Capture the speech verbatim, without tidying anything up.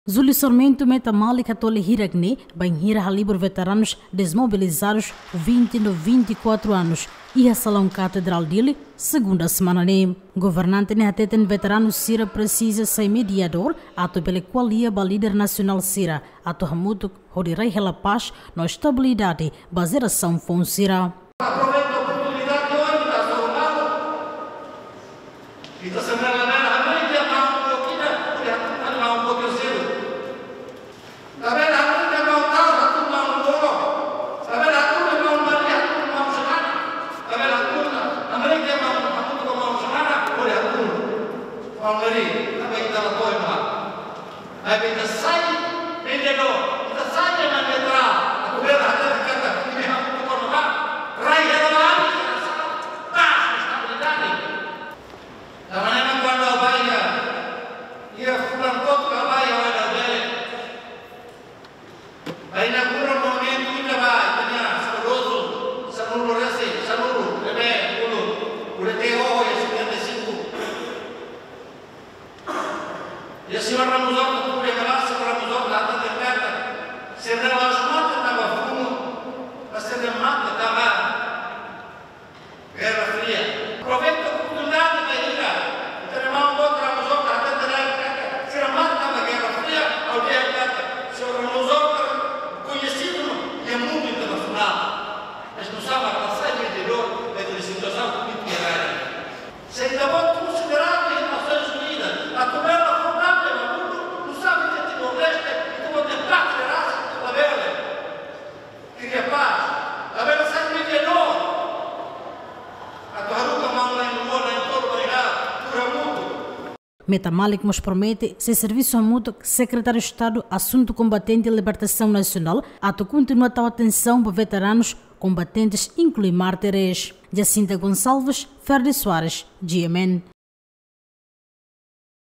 Júlio Sarmento Meta Malik hatoli hirak ne'e bainhira halibur veteranus desmobilizadus vinte no vinte e quatro anos iha Salaun Katedrál Dili, segunda semana ne'e. Governante ne'e hateten veteranu sira presiza sai mediadór atu bele ko'alia ba líder nasionál sira atu hamutuk hodi rai hela pás no estabilidade ba jerasaun foun sira. Aproveita oportunidade ohin ita soro malu. Ita sempre labele hamriik de'it maun boot ida, hodi hatún maun boot terseiru. Labele hamriik de'it maun Tau hatún maun Loro. Labele hatún de'it maun Mari hatún maun Xanana. Labele hatún, hamriik de'it maun, hatún de'it maun Xanana, hodi hatún maun Mari. Tanba ita la to'o ema. Maibé ita sai vendedór, ita sai ema neutral, atu bele hatete katak imi hamutuk ho ami, rai hela ba ami, pás, estabilidade. Tanba ne'e mak kuandu ha'u bá iha, iha fulan kotuk ha'u bá iha Oeidauk Bele, bá inaugura monumentu ida ba ita-nia saudozu Sanulu Resi, Sanulu, ne'ebé uluk, uluk te oho iha setenta e cinco. Iha señór Ramos Horta, tuur iha ne'ebá, señór Ramos Horta hateten katak sira la'ós mate tanba funu, mas sira mate tanba Guerra Fria. Aproveita oportunidade bainhira ita-nia maun boot Ramos Horta hateten katak sira mate tanba Guerra Fria, ha'u dehan katak señór Ramos Horta koñesidu iha mundu internasionál. Mas nusá mak la sai mediadór ba ita-nia situasaun polítika agora. Se ita-boot konsideradu iha Nasoins Unidas atu bele fó papél ba mundu, nusá mak iha Timor-Leste, ita-boot iha pátria rasik labele kria pás, labele sai mediadór atu haruka maun na'in-rua, na'in-tolu, ba ita tuur hamutuk. Meta Malik mós promete sei servisu hamutuk Sekretáriu Estadu Asuntu Kombatente e Libertasaun Nasionál atu kontinua tau atensaun ba veteranus, kombatentes, inklui mártires. Jacinta Gonçalves, Ferdi Soares, G M N.